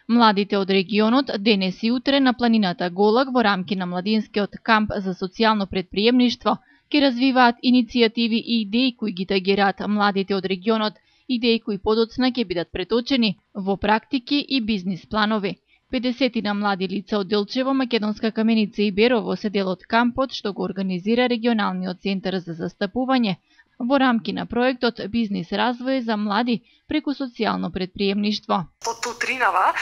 Младите од регионот денес и утре на планината Голак во рамки на младинскиот камп за социјално претприемништво ќе развиваат иницијативи и идеи кои ги тагираат младите од регионот, идеи кои подоцна ќе бидат преточени во практики и бизнис планови. 50 млади лица од Делчево, Македонска Каменица и Берово се дел од кампот што го организира регионалниот центар за застапување во рамки на проектот Бизнис развој за млади преку социјално претприемништво. Од утринава,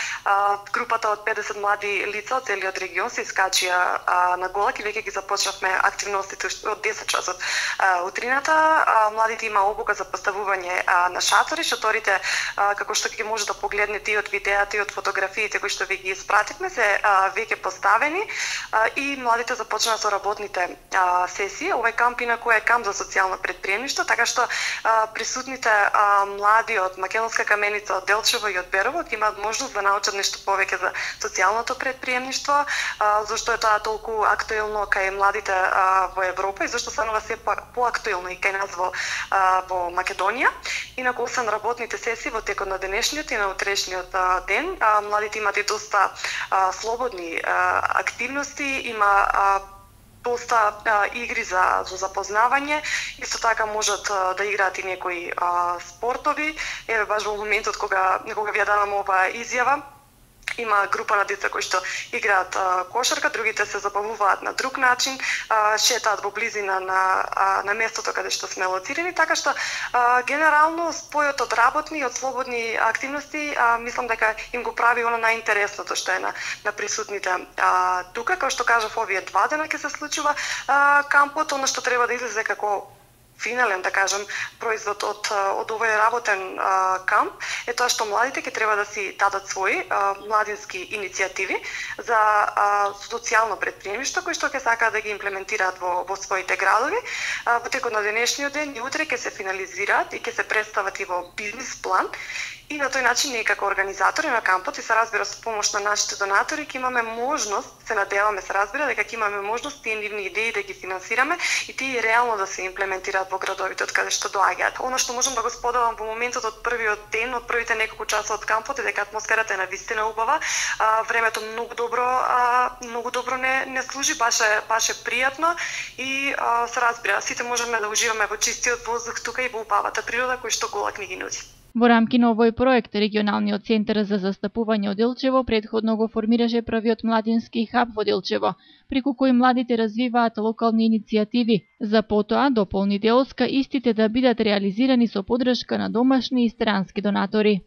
групата од 50 млади лица од целиот регион се искачија на Голак и веќе ги започнавме активностите од 10 часот утрината. Младите има обука за поставување на шатори. Шаторите, како што ќе може да погледнете и од видеата и од фотографиите кои што ви ги испративме, се веќе поставени и младите започнаа со работните сесии. Овој камп инаку е камп за социјално претприемништво, така што присутните млади од Македонска Каменица, од Делчево и од Берово ќе имаат можност да научат нешто повеќе за социјалното претприемништво, зашто е тоа толку актуелно кај младите во Европа и зашто станува се поактуелно и кај нас во Македонија. Инаку освен работните сесии во текот на денешниот и на утрешниот ден, младите имаат и доста слободни активности, има доста игри за запознавање, исто така можат да играат и некои спортови. Еве баш во моментот кога ви ја давам оваа изјава, има група на деца кои што играат кошарка, другите се забавуваат на друг начин, шетаат во близина на местото каде што сме лоцирани, така што генерално спојот од работни и од слободни активности мислам дека им го прави оно најинтересното што е на присутните тука. Како што кажав, овие 2 дена ќе се случува кампот, она што треба да излезе како финален, да кажем, производ од овој работен камп е тоа што младите ќе треба да си дадат своји младински иницијативи за социјално претприемништво кои што ќе сакаат да ги имплементираат во своите градови. Во текот на денешниот ден и утре ќе се финализираат и ќе се представат и во бизнис план. И на тој начин ние како организатори на кампот и се разбира со помош на нашите донатори ќе имаме можност, се надеваме се разбира дека ќе имаме можност тие нивни идеи да ги финансираме и тие реално да се имплементираат во градовите од каде што доаѓаат. Она што можам да го споделам во моментот од првиот ден, од првите неколку часа од кампот е дека атмосферата е навистина убава, времето многу добро не служи, баш е пријатно и се разбира сите можеме да уживаме во чистиот воздух тука и во убавата природа кој што Голак ни ги нуди. Во рамки на овој проект, регионалниот центар за застапување од Делчево претходно го формираше првиот младински хаб во Делчево, преку кој младите развиваат локални иницијативи, за потоа дополни делска истите да бидат реализирани со поддршка на домашни и странски донатори.